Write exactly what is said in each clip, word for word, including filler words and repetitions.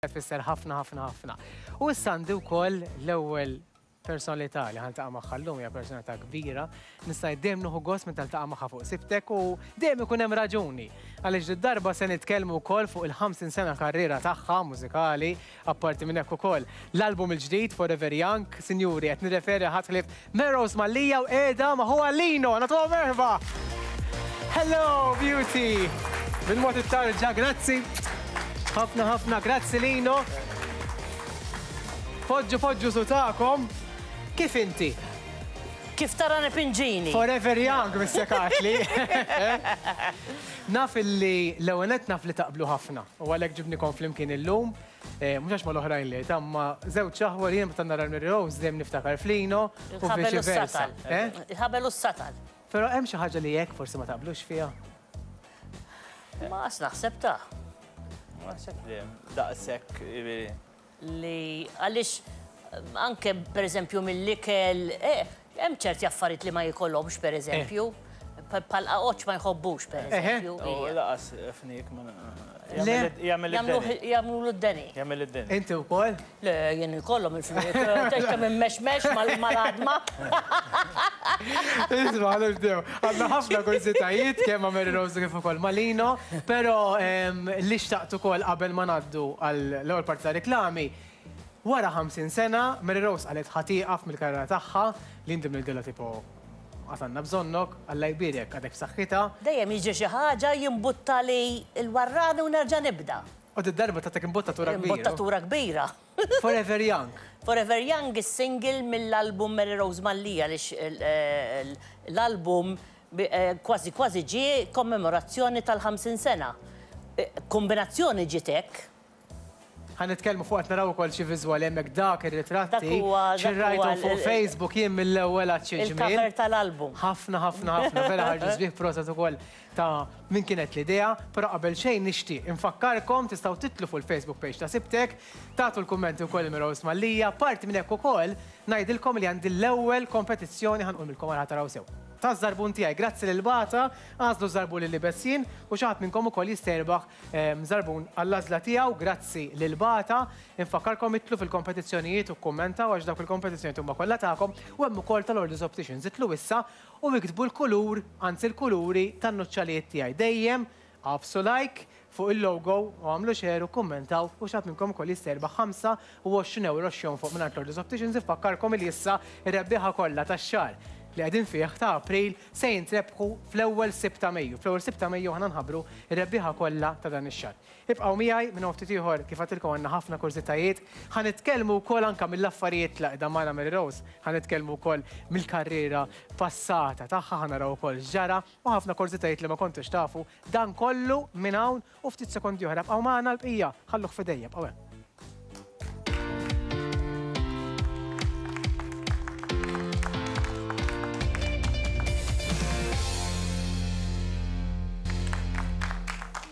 Tfisser ħafna ħafna ħafna. U issa għandi wkoll l-ewwel personalità li ħa niltaqa' magħha llum, hija personalità kbira. Nista' dejjem nieħu gost meta niltaqa' magħha fuq Sibtek u dejjem ikun hemm raġuni. Għaliex darba se nitkellmu wkoll fuq il-ħamsin sena karriera tagħha mużikali, apparti minn hekk ukoll l-album il-ġdid Forever Young. Sinjuri, qed nirreferi ħadd ħlief Mary Rose Mallia u qiegħda ma' ħuha Lino. Nagħtuha merħba! Hello, beauty! Bil-mod it-tarġa, grazzi. Ħafna ħafna, grazzi Lino. Poġġu poġġu sutakom. Kif inti? Kif tara nipinġini? Forever young, Mister Katli. Naf illi l-ewwel naf li taqblu ħafna. U għalhekk ġibnikom flimkien illum. Mhux għax mal-oħrajn li, imma żewġ aħwa li jien meta nara Mary Rose dejjem niftakar f'Lino u viċi versa. Il-ħabel u s-satal. Però hemm xi ħaġa li hekk forsi ma taqblux fiha. Ma qas naħseb ta'. Ma naħseb li daqshekk. Li għaliex anke per eżempju mill-ikel, hemm ċerti affarijiet li ma jkollhomx per eżempju, bħal qaqoċ ma jħobbux per eżempju. U laqas fnik ma jagħmel id-deni. Jagħmlu d-deni. Jagħmel id-deni. Inti wkoll? Le, jien ikollhom il-fnik, tgħid kemm immexmex mal-għadma. Isma' nibdew. Għandna ħafna kurżitajiet kemm ma' Mary Rose kif ukoll ma' Lino, però li xtaqt ukoll qabel ma ngħaddu għall-ewwel parti ta' reklami. Wara ħamsin sena, Mary Rose qalet ħa tieqaf mill-karriera tagħha li inti mill-dilla tipo għatanna bżonnok, Alla jbierek għadek b'saħħitha. Dejjem jiġi xi ħaġa jimbutta li l-warrani u nerġa' nibda. U d-darba tatek imbottatura kbira. Imbottatura kbira. Forever Young. Forever Young is-single mill-album Mary Rose Mallia, għaliex l-album kważi kważi ġie kommemorazzjoni tal-ħamsin sena. Kombinazzjoni ġiet hekk. Ħa nitkellmu fuq qed naraw ukoll xi viżwali hemmhekk dak ir-ritratti. Xi rajthom fuq Facebook jien mill-ewwel għad xi ġmiel. Il-cover tal-album. Ħafna ħafna ħafna vera ħarġu sbieħ, proset ukoll ta' min kienet l-idea, però qabel xejn nixtieq infakkarkom tistgħu titlu fuq il-Facebook page ta' Sibtek, tagħtu l-kummenti wkoll Mary Rose Mallia, parti minn hekk ukoll ngħidilkom li għandi l-ewwel kompetizzjoni ħa nqulilkom għal taraw sew. Ta' żarbun tiegħi, grazzi lil Bata, għażlu żarbun lil libessin u xi ħadd minnkom ukoll jista' jirbaħ żarbun għall-għażla tiegħu, grazzi lil Bata. Infakkarkom itlu fil-kompetizzjonijiet u kkummentaw għax dawk il-kompetizzjonijiet huma kollha tagħkom u hemm ukoll tal-Orders Opticians. Itlu issa u iktbu l-kulur, anzi l-kuluri tan-nuċċalijiet tiegħi. Dejjem għafsu like fuq il-logo u għamlu share u kummentaw u xi ħadd minnkom ukoll jista' jirbaħ ħamsa u għoxrin euro x'jon fuq mingħand l-Orders Opticians. Infakkarkom li issa r-rebbieħa kollha tax-xahar li qegħdin fih ta' April se jintrebħu fl-ewwel Sibt ta' Mejju. Fl-ewwel Sibt ta' Mejju aħna nħabbru r-rebbieħa kollha ta' dan ix-xahar. Ibqgħu miegħi minn ftit ieħor kif għadtilkom għandna ħafna kurżitajiet. Ħa nitkellmu wkoll anke mill-affarijiet li qiegħda magħna Mary Rose, ħa nitkellmu wkoll mill-karriera passata tagħha, ħa naraw ukoll x'ġara u ħafna kurżitajiet li ma kontux tafu. Dan kollu minn hawn u ftit sekondi oħra. Bqgħu magħna l-bqija, ħalluh f'idejja, bqgħu hemm.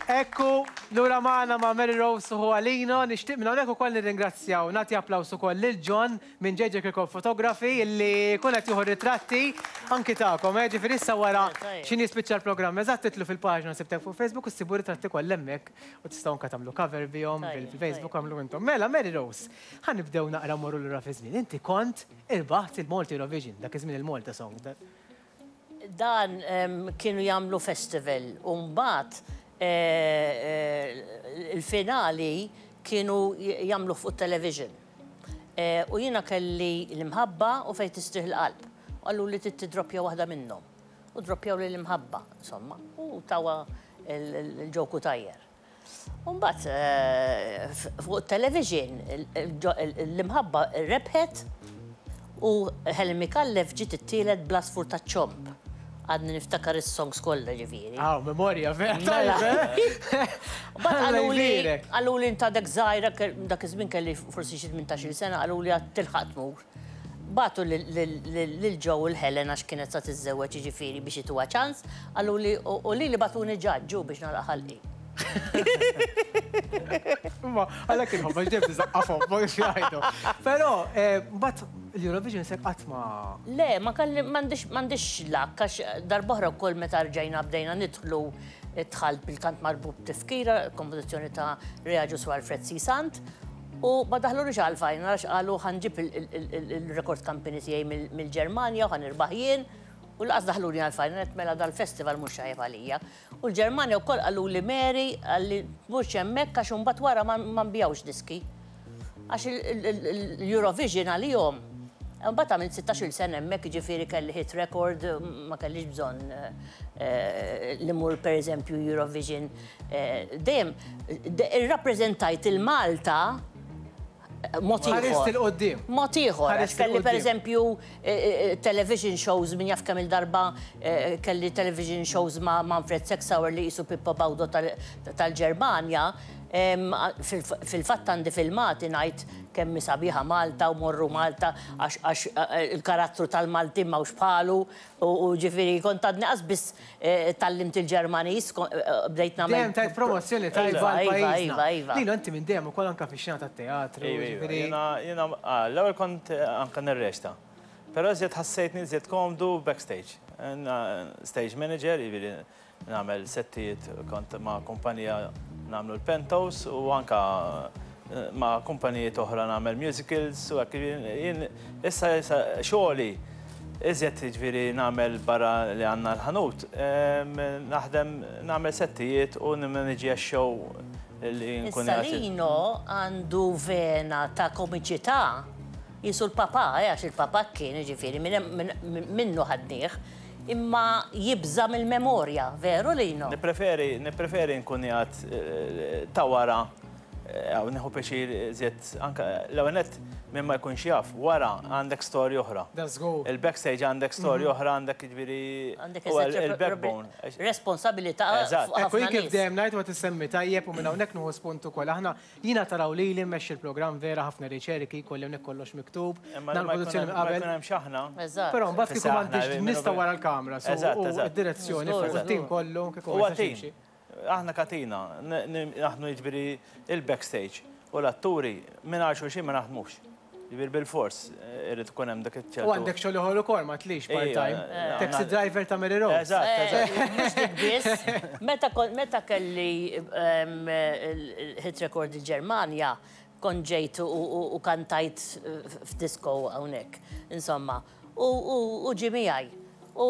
Ekku, lura magħna ma' Mary Rose u Lino, nixtieq minn hawnhekk ukoll nirringrazzjaw, nagħti applaws ukoll lil John minn J J Kirkop Photography illi kun qed jieħu ritratti anki tagħkom, eh, ġifieri issa wara x'inhi jispiċċa l-programm, eżatt titlu fil-paġna Sibtek fuq Facebook u ssibu ritratti kollha hemmhekk u tistgħu anke tagħmlu cover bihom fil-Facebook għamlu intom. Mela Mary Rose, ħa nibdew naqra mmorru lura fi żmien. Inti kont irbaħt il-Malta Eurovision, dak iż-żmien il-Malta Song. Dan kienu jagħmlu festival u mbagħad il-finali kienu jagħmlu fuq television. U jiena kelli l-imħabba u fejn tistrieħ il-qalb. U qallu li tidroppja waħda minnhom. U droppjaw li l-imħabba, insomma, u tawa il-ġoku tajjer. U mbagħad fuq television l-imħabba rebħet u Helen Micallef ġiet it-tielet bl-asfur taċ-ċomb. Għadni niftakar is-songs kollha ġifieri. Aw, memorja vera. Mbagħad qaluli qaluli inta dak żgħira, dak iż-żmien kelli forsi xi tmintax-il sena, qaluli għad tilħaq tmur. Bagħtu lil Joe u l-Helen għax kienet sa tiżżewweġ jiġifieri biex ituha ċans, qaluli u lili bagħtuni ġaġġu biex nagħlaq ħalqi. Ma, għalhekk inħobb għax dejjem tiżaqqafhom, ma kif jgħidu. Però mbagħad l-Eurovision se qatt ma. Le, ma kelli m'għandix m'għandix lak għax darb'oħra wkoll meta rġajna bdejna nidħlu Dħalt bil-Kant Marbut Tifkira, kompożizzjoni ta' Ray Agius u Alfred C. Sant. U ma daħlunix għal-final, għax qalu ħa nġib il-record company tiegħi mill-Ġermanja u ħa nirbaħ jien. U lanqas daħluni għal-final, għedt mela dal-festival mhux tajjeb għalija. U l-Ġermanja wkoll qalu li Mary, qalli mhux hemmhekk għax imbagħad wara ma nbigħux diski. Għax l-Eurovision għalihom. Mbagħad għamilt sittax-il sena hemmhekk, ġifieri kelli hit record, ma kellix bżonn li mmur pereżempju Eurovision. Dejjem irrappreżentajt il-Malta mod ieħor. Ħarist il-qoddim. Mod ieħor, għax kelli pereżempju television shows min jaf kemm il-darba kelli television shows ma' Manfred Sexauer li qisu Pippo Baudo tal-Ġermanja. Fil-fatt għandi filmati ngħid kemm sabiħa Malta u morru Malta għax il-karattru tal-Maltin m'hawnx bħalu u ġifieri kont għadni qas biss tgħallimt il-Ġermaniż, bdejt nagħmel. Dejjem tajt promozzjoni tajba għal pajjiżna. Lino, inti minn dejjem ukoll anke fix-xena tat-teatru. Jiena l-ewwel kont anke nirreċta. Però iżjed ħassejtni iżjed komdu backstage. Stage manager, jiġifieri nagħmel settijiet kont ma' kumpanija nagħmlu l-pentos u anka ma' kumpanijiet oħra nagħmel musicals u hekk jien issa xogħli iżjed jiġifieri nagħmel barra li għandna l-ħanut, naħdem nagħmel settijiet u nimmaniġġja x-show li nkun Issa Lino għandu vena ta' komiċità jisu l-papa, għax il-papa kien jiġifieri minnu ħadnieh, imma jibża mill-memorja, veru Lino? Nippreferi, nippreferi nkun qiegħed ta' wara, għaw nieħu pjaċir iżjed anke l-ewwel nett minn ma jkunx jaf, wara għandek storja oħra. That's go. Il-backstage għandek storja oħra, għandek jiġifieri Għandek il-backbone. Responsabilità. Eżatt. Ekku jien kif dejjem ngħid ma tissemmi tajjeb u minn hawnhekk nieħu spunt ukoll. Aħna jiena taraw li li mmexxi l-programm vera ħafna riċerki, kolli hawnhekk kollox miktub, Imma dan produzzjoni minn qabel. Ma jkun hemm x'aħna. Eżatt. Però mbagħad kieku m'għandix nista' wara l-kamra, u d-direzzjoni fuq it-tim kollu kieku Huwa tim. Aħna katina, naħdmu jiġifieri il-backstage u l-atturi minn xulxin ma naħdmux. Jiġifieri bil-fors irid ikun hemm dak iċ-ċertu. U għandek xogħol ieħor ukoll ma tlix part-time. Taxi driver ta' Mary Rose. Eżatt, eżatt. Mhux dik biss. Meta meta kelli hit record il-Ġermanja, kont ġejt u kantajt f'disco hawnhekk, insomma. U ġie miegħi. U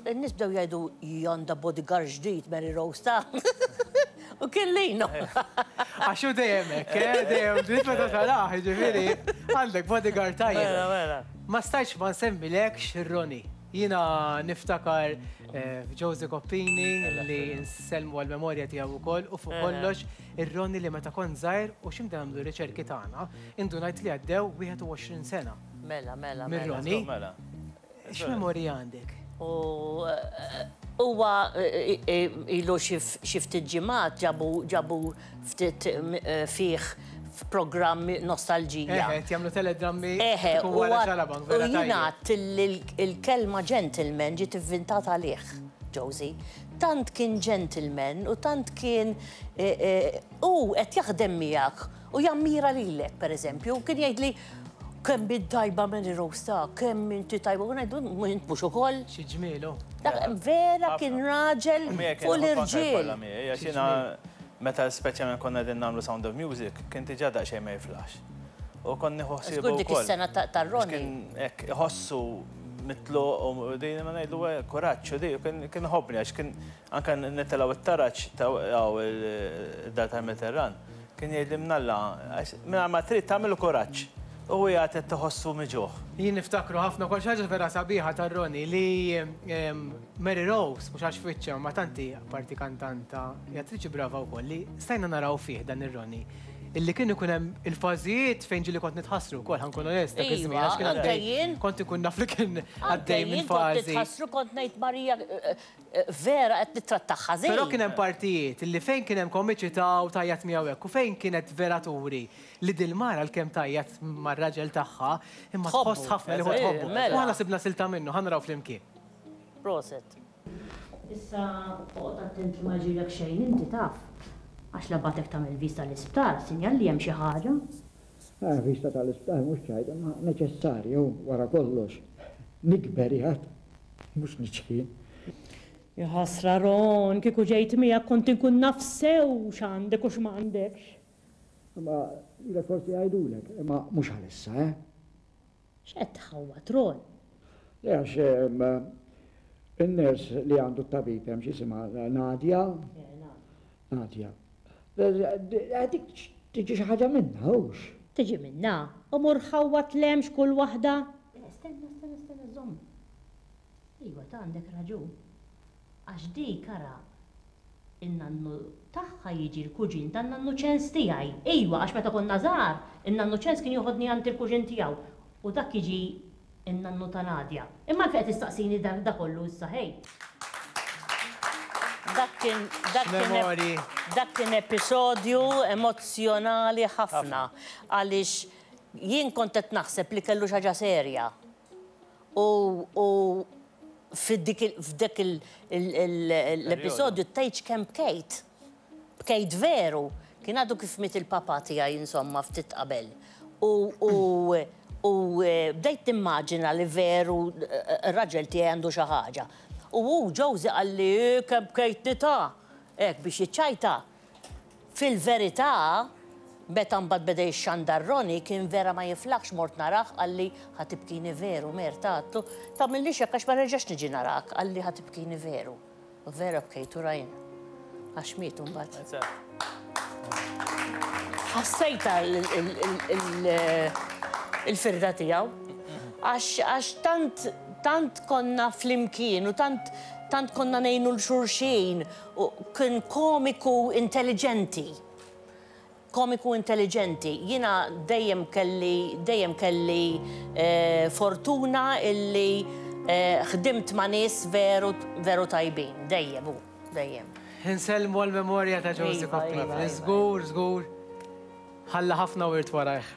n-nies bdew jgħidu għandha bodyguard ġdid Mary Rose ta' U kien Lino. Għax hu dejjem hekk, eh, dejjem ġdid meta tarah, jiġifieri għandek bodyguard tajjeb. Mela, mela. Ma stajtx ma nsemmilekx ir-Roni. Jiena niftakar Josie Coppini li nsellmu għal-memorja tiegħu wkoll u fuq kollox ir-Roni li meta kont żgħir u x'imda nagħmlu riċerki tagħna, indunajt li għaddew wieħed u għoxrin sena. Mela, mela, Mir-Roni. mela. X'memorja għandek? U huwa ilu xi ftit ġimgħat ġabu ġabu ftit fih f'programm nostalġija. Eħe, jagħmlu teledrammi Eħe, tkun wara Xarabank, u vera jiena tajjeb. li l-kelma gentleman ġiet ivvintata għalih, Josie. Tant kien gentleman u tant kien u qed jaħdem miegħek u jammira lilek, pereżempju, kien jgħidli kemm bid-tajba Mary Rose ta' kemm inti tajba, u ngħidu int mhux ukoll. Xi ġmielu. Dak vera kien raġel fuq l-irġiel. Għax jiena meta speċjalment konna qegħdin nagħmlu Sound of Music, kien diġà daqsxejn ma jiflax. U kont nieħu ħsiebu Żgur dik wkoll. is-sena tar-Roni. Kien hekk iħossu mitluq u din ma ngħidlu kuraġġ u di, kien ħobbni għax kien anke nitilgħu it-taraġ ta' id-dar tal-Mediterran. Kien jgħidli mnalla, għax mingħajr ma trid tagħmlu kuraġġ. U hija qed tħossu miġuħ. Jien niftakru ħafna kol xi ħaġa vera sabiħa tar-Roni li Mary Rose, mhux għax fiċċa, ma tanti parti kantanta, hija attriċi brava wkoll li stajna naraw fih dan ir-Roni. Illi kien ikun hemm il-fażijiet fejn ġieli kont nitħassru wkoll, ħa nkun onest, dak iż-żmien, għax kien Iva, għaddej. anke jien. Kont ikun naf li kien għaddej minn Anke jien kont fażi. nitħassru, kont ngħid Marija vera qed nittrattaha ħażin. Però kien hemm partijiet illi fejn kien hemm komiċità u tajjat miegħu hekk u fejn kienet vera turi li dil-mara l-kemm tajjat mar-raġel tagħha imma Tħobbu. tħoss ħafna li huwa Eżatt. tħobbu. Mela. U aħna sibna silta minnu, ħa naraw flimkien. Proset. Issa oqgħod attent li ma ġilek xejn inti taf. Għax la batek tagħmel vista l-isptar, sinjal li hemm xi ħaġa. Ah, vista tal-isptar mhux ċajt, imma neċessarju wara kollox. Nikber jgħid, mhux niċkien. Jaħasra Ron, kieku ġejt miegħek kont inkun naf sew x'għandek u x'm'għandekx. Imma ilek forsi jgħidulek, imma mhux għalissa, eh? X'qed tħawwad Ron? Le għax in-nurse li għandu t-tabib hemm x'isimha Nadia. Nadia. Dik tiġi xi ħaġa minnha, hux? Tiġi minnha, u mur ħawwad l'hemmx kull waħda. Stenna, stenna, stenna, żomm. Iva, ta' għandek raġun. Għax dik ara in-nannu tagħha jiġi l-kuġin tan-nannu Ċens tiegħi. Ejwa, għax meta konna żgħar, in-nannu Ċens kien joħodni għand il-kuġin tiegħu u dak jiġi in-nannu ta' Nadia. Imma għalfejn qed tistaqsini da kollu issa ħej. Dak kien dak kien dak kien episodju emozzjonali ħafna għaliex jien kont qed naħseb li kellu xi ħaġa serja. U f'dik l-episodju tgħidx kemm bkejt. Bkejt veru. Kien għadu kif miet il-papa tiegħi insomma ftit qabel. U bdejt nimmaġina li veru r-raġel tiegħi għandu xi ħaġa. U hu Josie qalli kemm bkejtni ta' hekk biex jiċċajta. Fil-verità, meta mbagħad beda jixxandar Ronnie kien vera ma jiflaħx mort narah qalli ħa tibkini veru Merta għadtlu tagħmillix hekk għax ma nerġax niġi narak qalli ħa tibkini veru. U vera bkejtu rajn. Għax mietu mbagħad. Ħassejta il-firda tiegħu. Għax tant tant konna flimkien u tant tant konna ngħinu l-xulxin u kien komiku intelligenti. Komiku intelligenti. Jiena dejjem kelli dejjem kelli fortuna illi ħdimt ma' nies veru veru tajbin. Dejjem hu, dejjem. Insellmu għall-memorja ta' Josie Coppini. Żgur, żgur. Ħalla ħafna wirt warajh.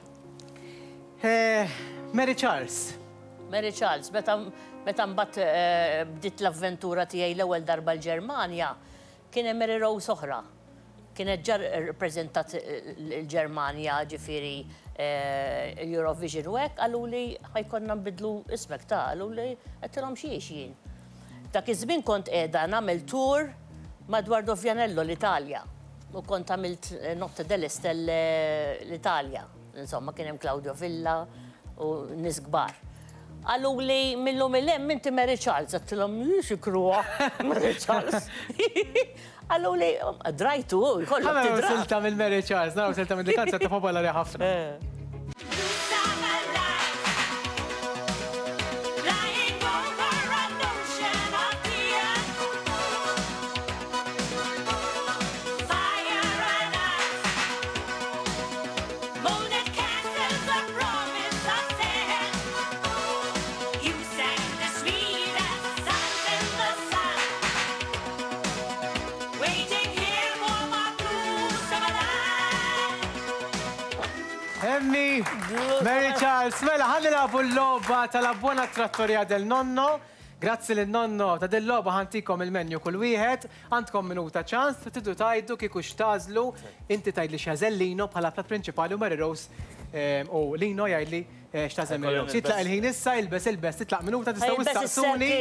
Mary Charles. Mary Charles, meta mbagħad bdiet l-avventura tiegħi l-ewwel darba l-Ġermanja, kien hemm Mary Rose oħra. Kienet ġar rappreżentat l-Ġermanja, ġifieri Eurovision u hekk, qaluli ħajkonna nbidlu ismek ta' qaluli għedtilhom xiex jien. Dak iż-żmien kont qiegħda nagħmel tour madwar Dovjanello l-Italja. U kont għamilt Notte delle Stelle l-Italja. Insomma, kien hemm Claudio Villa u nies kbar. Qaluli millum il-hemm inti Mary Charles, għedtilhom xi kruha Mary Charles. Qaluli drajtu, jkollok tidra. Silta mill Mary Charles, naraw silta mill kanzunetta ta' popolari ħafna. Emmi, Mary Charles, mela ħa nilagħbu l-logħba tal-La Buona Trattoria del Nonno. Grazzi lin nonno ta' din logħba ħantikom il-menju kull wieħed, għandkom minuta ċans, tridu tgħidu kieku x'tażlu, inti tgħidli x'jażel Lino bħala plat prinċipali u Mary Rose u Lino jgħidli x'tażel Mary Rose. Jitlaq il-ħin issa, ilbes ilbes, titlaq minuta tistgħu issaqsuni.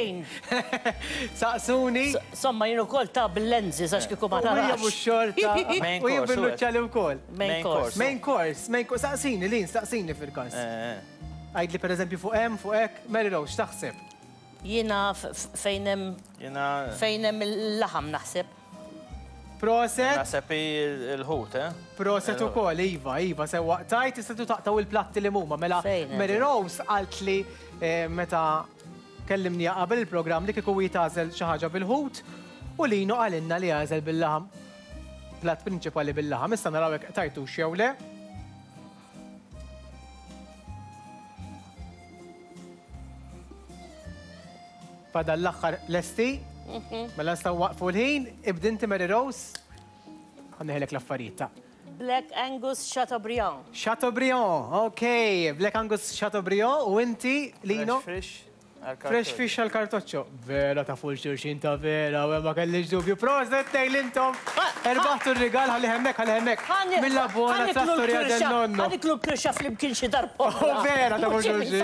Saqsuni. Somma jien ukoll ta' bil-lenzi għax kieku ma tarax. U mhux xorta. U jien bil-nuċċali wkoll. Main course. Main course, main course. Saqsini, Lin, saqsini fil-każ. Għidli pereżempju fuq hemm, fuq hekk, Mary Rose, x'taħseb? Jiena fejn hemm fejn hemm il-laħam naħseb. Proset. Naħseb il-ħut, eh? Proset ukoll, iva, iva, sewwa tajt tistgħu taqtaw il-platti li huma. Mela Mary Rose qalt li meta kellimniha qabel il-programm li kieku hi tagħżel xi ħaġa bil-ħut u Lino qalilna li għażel bil-laħam. Platt prinċipali bil-laħam. Issa naraw hekk tajtux jew le. Fadal l-aħħar lesti, mela nistgħu waqfu l-ħin, ibdi inti Mary Rose, ħa neħilek l-affarijiet ta' Black Angus Chateaubriand. Chateaubriand, ok. Black Angus Chateaubriand u inti, Lino? Fresh fish. Fresh fish għal kartoċċo. Vera ta' full xulxin ta' vera, u ma kellix dubju. Proset tnejn intom. Erbaħtu r-rigal ħalli hemmhekk, ħalli hemmhekk. Mill Buona Trattoria del Nonno. Ħa niklu l-kirxa flimkien xi darba. Oh, vera ta' full xulxin.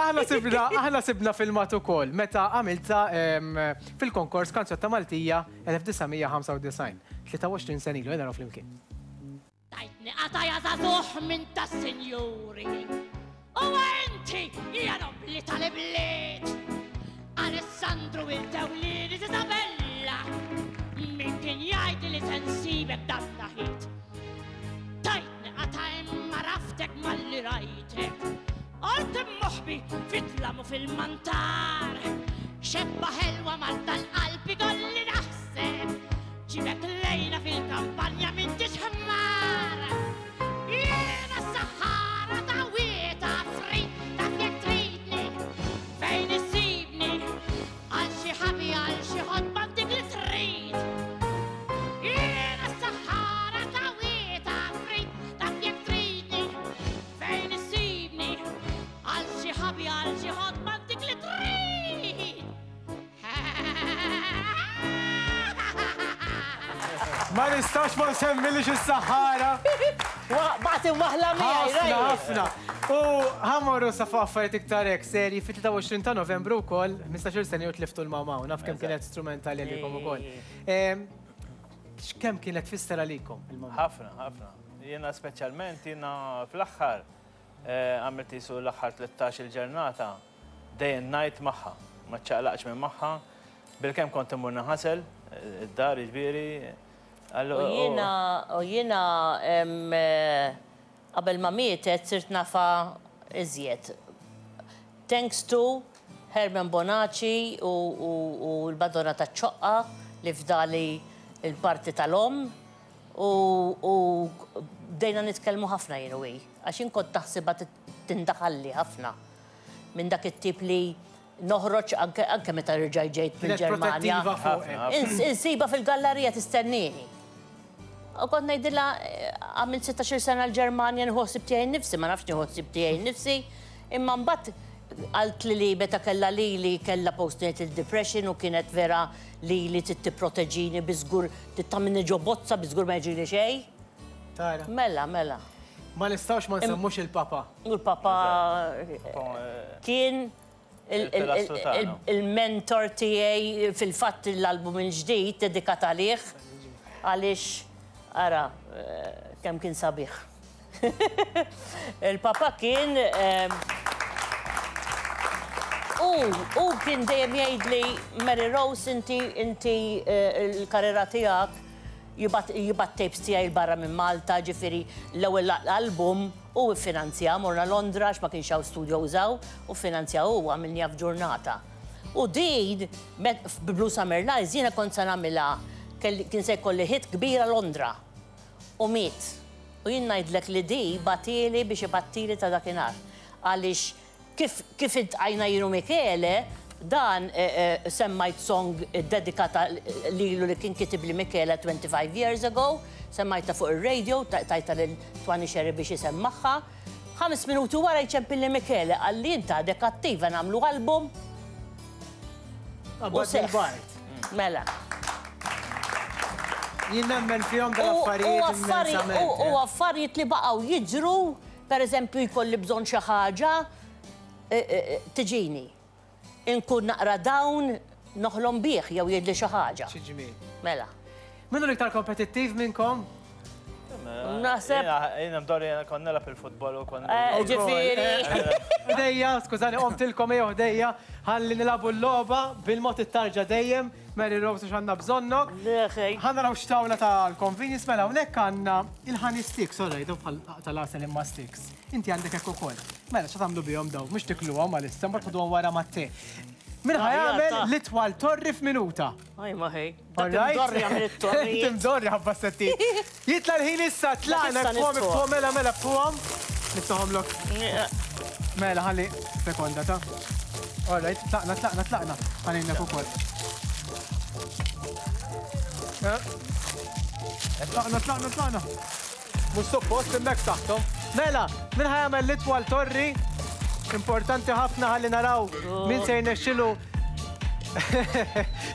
Aħna sibna, aħna sibna filmat ukoll meta għamilta fil-konkors Kanzunetta Maltija elf disa' mija ħamsa u disgħin. tlieta u għoxrin sena ilu, naraw flimkien. Tajtni qataja żagħżugħ minn tas-sinjuri. U inti hija nobli tal-ibliet. Alessandru il-Tewlini Isabella. Min kien jgħid li se nsibek dan naħit. Tajtni qata' imma raftek malli rajtek. Art moħbi fit-tlam u fil-mantar. Xebba ħelwa Malta l-qalbi kolli naħseb. Ġibek lejna fil-kampanja minn ħmar. Jiena s-saħħara ta' wieta fri, taf jekk tridni, fejn issibni, għal xi ħabi għal xi ħodba dik li trid. Jiena s-saħħara ta' wieta fri, taf jekk tridni, fejn issibni, għal xi ħabi għal xi ħodba dik li trid. Ma nistax ma nsemmilix is-saħħara. Baqgħet imwaħla miegħi, Ħafna, ħafna. U ħa mmorru sa fuq affarijiet iktar hekk serji fit-tlieta u għoxrin ta' Novembru wkoll, ħmistax-il sena u tliftu l-mama u naf kemm kienet strumentali għalikom ukoll. Kemm kienet tfisser għalikom il-mama? Ħafna, ħafna. Jiena speċjalment jiena fl-aħħar għamilt isu l-aħħar tlettax il-ġurnata day and night magħha, ma ċċaqlaqx minn magħha. Bilkemm kont immur naħasel id-dar jiġifieri. U jiena, u jiena qabel ma mietet sirt nafa iżjed. Thanks to Herman Bonaci u l-Madonna taċ-Ċoqqa li fdali il-parti tal-om u bdejna nitkellmu ħafna jien u hi. Għax jien kont taħsibha tindaħalli ħafna minn dak it-tip li noħroġ anke meta rġaj ġejt mill-Ġermanja. Insiba fil-gallerija tistennini. U kont ngħidilha għamilt sittax-il sena l-Ġermanja nieħu ħsieb tiegħi nnifsi, ma nafx nieħu ħsieb tiegħi nnifsi, imma mbagħad qaltli li meta kellha lili kellha postnatal depression u kienet vera lili trid tipproteġini biżgur trid tagħmilni ġo bozza biżgur ma jiġrini xejn. Tara. Mela, mela. Ma nistgħux ma nsemmux il-papa. U l-papa kien il-mentor tiegħi fil-fatt l-album il-ġdid dedikat għalih għaliex ara kemm kien sabiħ. Il-papa kien u u kien dejjem jgħidli Mary Rose inti inti l-karriera tiegħek jibgħat tapes tiegħi barra minn Malta, ġifieri l-ewwel album u ffinanzja, morna Londra għax ma kienx hawn studio użaw, u ffinanzja u għamilniha f'ġurnata. U din Blue Summer Lies jiena kont se nagħmilha kien se jkolli hit kbira Londra. U miet. U jien ngħidlek li di batili biex ibattili ta' dakinhar. Għaliex kif kif iltqajna jien u Michele, dan semmajt song dedikata lilu li kien kitib li Michele twenty-five years ago, semmajta fuq ir-radio, tajta lil Twani Sherry biex isemmaħħa. Ħames minuti wara jċempilli Michele, qalli inta għadek attiva nagħmlu album. U seħħ. Mela. Jien nemmen fihom dal-affarijiet. U affarijiet li baqgħu jiġru, pereżempju jkolli bżonn xi ħaġa, tiġini. Inkun naqra dawn noħlom bih jew jgħidli xi ħaġa. Xi ġmiel. Mela. Min hu l-iktar kompetittiv minnkom? Naħseb. Jiena mdorri jiena kont nilgħab il-futbol u kont. Ġifieri. Ħdejja, skużani, qomtilkom ejjew ħdejja, ħalli nilagħbu l-logħba bil-mod it-tarġa dejjem, Mary Rose għax għandna bżonnok. Ħa naraw x'tawla tal-convenience, mela hawnhekk għandna il-honey sticks, sorry, daw bħal tal-għasel imma sticks. Inti għandek hekk ukoll. Mela x'għad tagħmlu bihom daw, mhux tikluhom għalissa, mbagħad tħoduhom wara mat-te. Min ħa jagħmel l-itwal torri f'minuta? Aj ma ħej. Dak imdorri jagħmel it-torri. Imdorri ħabba setti. Jitla' l-ħin issa, tlaqna fuqhom, fuqhom, mela, mela, fuqhom. Niftaħomlok. Mela, ħalli sekonda ta'. All right, tlaqna, tlaqna, tlaqna. Ħalli ukoll. Tlaqna, tlaqna, tlaqna. Mhux suppost hemmhekk taħthom. Mela, min ħa jagħmel l-itwal torri? Importanti ħafna ħalli naraw min se jirnexxilu.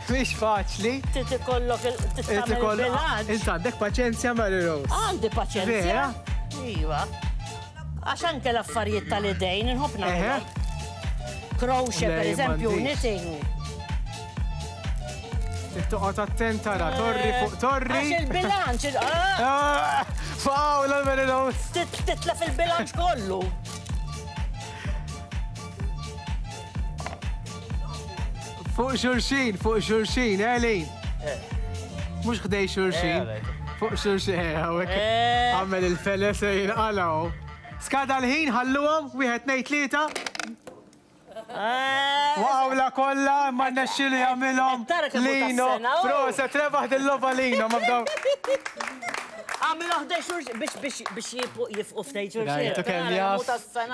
Mhix faċli. Trid ikollok il-bilanċ. Int għandek paċenzja, Mary Rose. Għandi paċenzja. Vera? Iva. Għax anke l-affarijiet tal-idejn inħobb nagħmilhom. Crochet, per eżempju, knitting. Toqgħod attent tara, torri fuq torri. Għax il-bilanċ. Fawla Mary Rose. Titla fil-bilanċ kollu. Fuq xulxin, fuq xulxin, Elin. Mhux ħdej xulxin. Fuq xulxin, hawnhekk. Għamel il-feles se jinqalgħu. Skada l-ħin, ħalluhom, wieħed tnejn tlieta. Waqgħula kollha, ma rnexxielu jagħmilhom. Lino, proset, rebaħ dil-logħba Lino, ma bdaw. Għamil ħdej xulxin biex biex biex jifqu f'dej xulxin. Rajtu kemm jaf.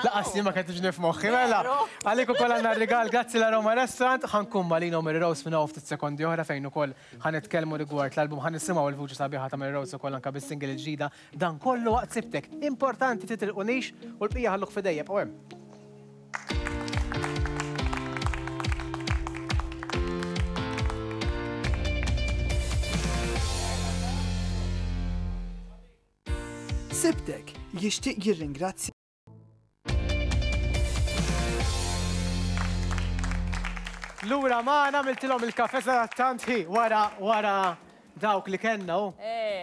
Laqas li ma kellix nifmoħħi, mela. Għalik ukoll għandna r-rigal, grazzi la Roma Restaurant, ħankun ma' Lino Mary Rose minn hawn ftit sekondi oħra fejn ukoll ħanitkellmu rigward l-album, ħanisimgħu l-vuċi sabiħa ta' Mary Rose ukoll anke bis-single il-ġdida. Dan kollu waqt Sibtek. Importanti titilqunix u l-bqija ħalluk f'idejja, bqgħu hemm. Sibtek jixtieq jirringrazzja. Lura magħna għamiltilhom il-kafe tant hi wara wara dawk li kellna hu.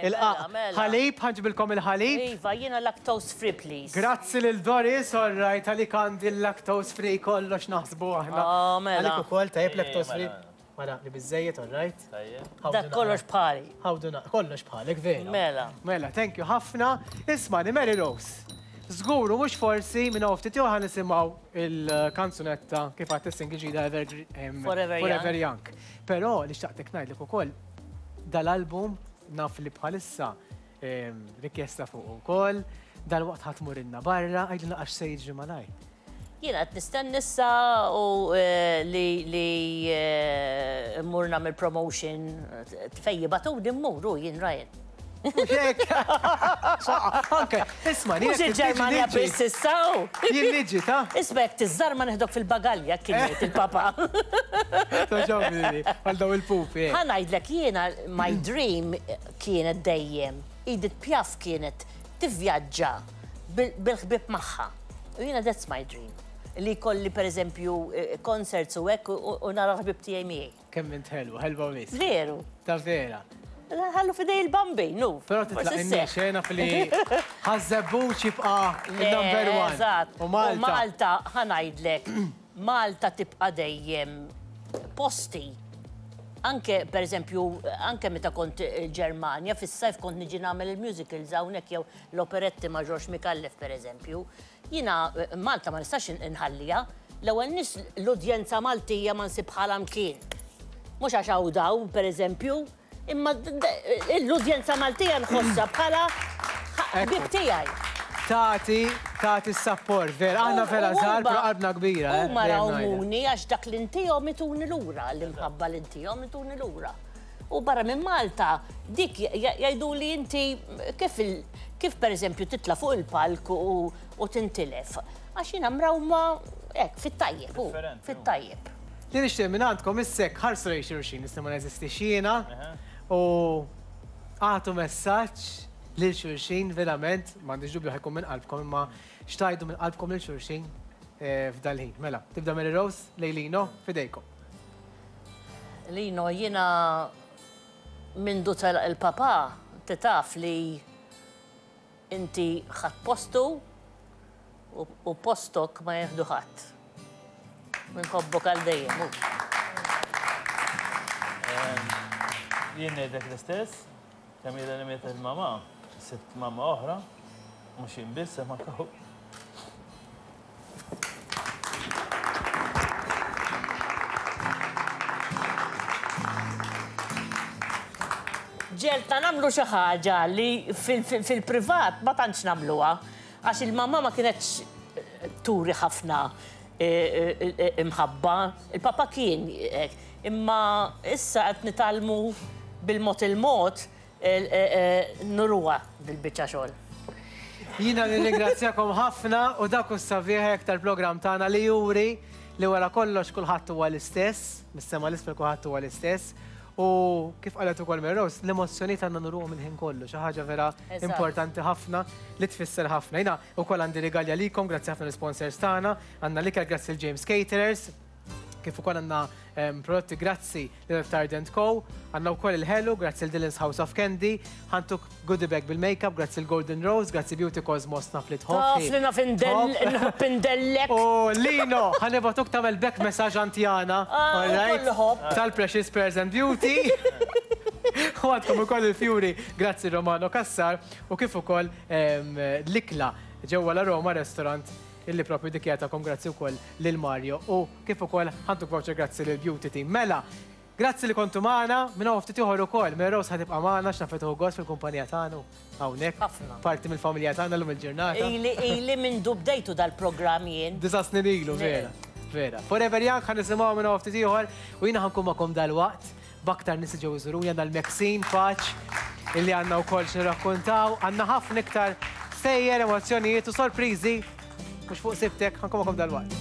Il-qaq. Ħalib, ħanġibilkom il-ħalib. Iva, jiena lactose free please. Grazzi lil Doris, all right, għalik għandi l-lactose free kollox naħsbu aħna. Għalik ukoll tajjeb lactose free. Mela, li biżżejjed, all right? Dak kollox bħali. Ħawduna, kollox bħalek, vera. Mela. Mela, thank you ħafna. Ismani, Mary Rose. Żguru mhux forsi minn hawn ftit ieħor nisimgħu il-kanzunetta kif għad is-single ġdida Forever Young. Però li xtaqtek ngħidlek ukoll dal-album naf li bħalissa rikjesta fuq ukoll, dal-waqt ħadd tmurilna barra, għidilna għax se jiġri malajr. Jiena qed nistenni issa u li mmur nagħmel promotion fejn jibatuni mmur u jien Ryan. Anke, isma' Mhux il-Ġermanja biss issa hu. Jien niġi ta' Isma' jekk tiżżar ma neħdok fil-bagalja kien jgħid il-papa. Toġobni għal daw il-pupi. Ħa ngħidlek jiena my dream kienet dejjem. Edith Piaf kienet tivvjaġġa bil-ħbieb magħha. U jiena that's my dream. Li kolli per eżempju concerts u hekk u nara ħbib tiegħi miegħi. Kemm int ħelwa, ħelwa wisq. Veru. Ta' vera. Ħallu fidej il-Bambi, nu. Però titlaq in-xena fili Ħaż-Żebbuġ jibqa' il-number one. Eżatt. U Malta. U Malta, ħa ngħidlek, Malta tibqa' dejjem posti. Anke, per eżempju, anke meta kont il-Ġermanja, fis-sajf kont niġi nagħmel il-musicals hawnhekk jew l-operetti ma' George Micallef, per eżempju. Jiena Malta ma nistax inħallija. L-ewwel nies l-udjenza Maltija ma nsib bħalha mkien. Mhux għax hawn daw, per eżempju, imma l-udjenza Maltija nħossha bħala ħbib tiegħi. Tati, tati s-sapport, vera, aħna vera żgħar, però qalbna kbira. Huma rawmuni għax dak li ntihom ituni lura, l-imħabba li ntihom ituni lura. U barra minn Malta, dik jgħidu li inti kif kif per eżempju titla' fuq il-palk u tintilef. Għax jiena mrawma hekk fit-tajjeb, fit-tajjeb. Li nixtieq minn għandkom issek ħarsu lejn xulxin, nista' ma neżistix jiena u għatu messaġġ lil xulxin verament, m'għandix dubju ħajkun minn qalbkom, imma xtajdu minn qalbkom lil xulxin f'dal-ħin. Mela, tibda Mary Rose, lej Lino, fidejkom. Lino, jiena mindu telaq il-papa, titaf li inti ħadd postu u postok ma jieħdu ħadd. Minħobbok għal dejjem. Jien ngħidlek l-istess, kemm ilha li mietet il-mama, sitt mama oħra, mhux jien biss ma kaw. Ġelta nagħmlu xi ħaġa li fil-privat ma tantx nagħmluha, għax il-mama ma kienetx turi ħafna imħabba. Il-papa kien, imma issa qed nitgħallmu bil-mod il-mod nuruha bil-biċċa xogħol. Jiena nirringrazzjakom ħafna u dak hu s-sabiħ tal-programm tagħna li juri li wara kollox kulħadd huwa l-istess, mis-sema 'l isfel kulħadd huwa l-istess. U kif qalet ukoll Mary Rose, l-emozzjonijiet għandna nuruhom il-ħin kollu, xi ħaġa vera Eżatt. importanti ħafna li tfisser ħafna. Jiena wkoll għandi rigali għalikom, grazzi ħafna l-sponsors tagħna, għandna l-ikel grazzi l-James Caterers, kif ukoll għandna em, prodotti grazzi lil Tardent Co, għandna wkoll il-ħelu grazzi l Dylan's House of Candy, ħa ntuk goodie bag bil-makeup grazzi l-Golden Rose, grazzi Beauty Cosmos naf li tħobb. Taf li naf indell- nħobb indellek. U Lino, ħa nibagħtuk tagħmel back massage antjana, Ah, all right? ukoll ħobb. Tal-Precious Pearls and Beauty. U għandkom ukoll il-Fjuri, grazzi Romano Kassar, u kif ukoll em, l-ikla ġewwa la Roma Restaurant illi propju dikjatakom grazzi wkoll lil Mario u kif ukoll ħa ntuk voucher grazzi lil Beauty Team. Mela, grazzi li kontu magħna, minn hawn ftit ieħor ukoll, Mary Rose ħa tibqa' magħna x'nafet gost fil-kumpanija tagħna hawnhekk. Ħafna. Parti mill-familja tagħna llum il-ġurnata. Ili ili minn bdejtu dal-programm jien. Disa' snin ilu, vera. Vera. Forever Young ħa nisimgħu minn hawn ftit ieħor u jiena ħa nkun magħkom dal-waqt b'aktar nies ġew iżuruni għandna l-Maxine Paċ illi għandna wkoll x'nirrakkontaw, għandna ħafna iktar stejjer, emozzjonijiet u sorpriżi mhux fuq Sibtek, ħa nkun magħkom dal-waqt.